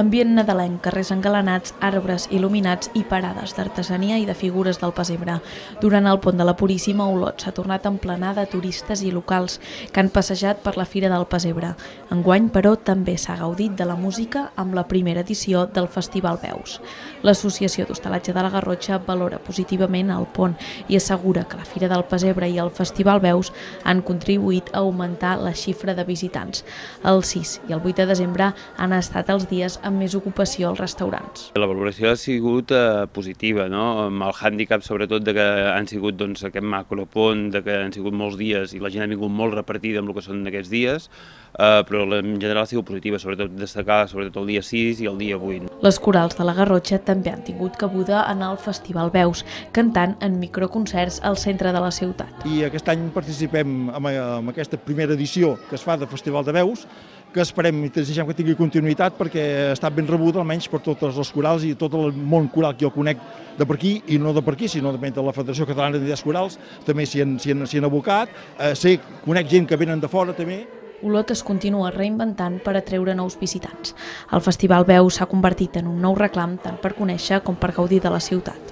Ambient nadalenc, carrers engalanats, arbres il·luminats i parades d'artesania i de figures del pessebre. Durant el pont de la Puríssima, Olot s'ha tornat a emplenar de turistes i locals que han passejat per la Fira del Pessebre. Enguany, però, també s'ha gaudit de la música amb la primera edició del Festival Veus. L'Associació d'Hostalatge de la Garrotxa valora positivament el pont i assegura que la Fira del Pessebre i el Festival Veus han contribuït a augmentar la xifra de visitants. El 6 i el 8 de desembre han estat els dies amb més ocupació als restaurants. La valoració ha sigut positiva, no? Amb el hàndicap sobretot de que han sigut aquest macropont, de que han sigut molts dies i la gent ha vingut molt repartida amb el que són aquests dies, però en general ha sigut positiva, sobretot destacar el dia 6 i el dia 8. Les corals de la Garrotxa també han tingut cabuda en el Festival Veus, cantant en microconcerts al centre de la ciutat. I aquest any participem en aquesta primera edició que es fa del Festival de Veus, que esperem i desitgem que tingui continuïtat perquè ha estat ben rebuda, almenys per totes les corals i tot el món coral que jo conec de per aquí, i no de per aquí, sinó de la Federació Catalana d'Entitats Corals, també s'hi han abocat, conec gent que venen de fora també. Olot es continua reinventant per atreure nous visitants. El Festival Veus s'ha convertit en un nou reclam tant per conèixer com per gaudir de la ciutat.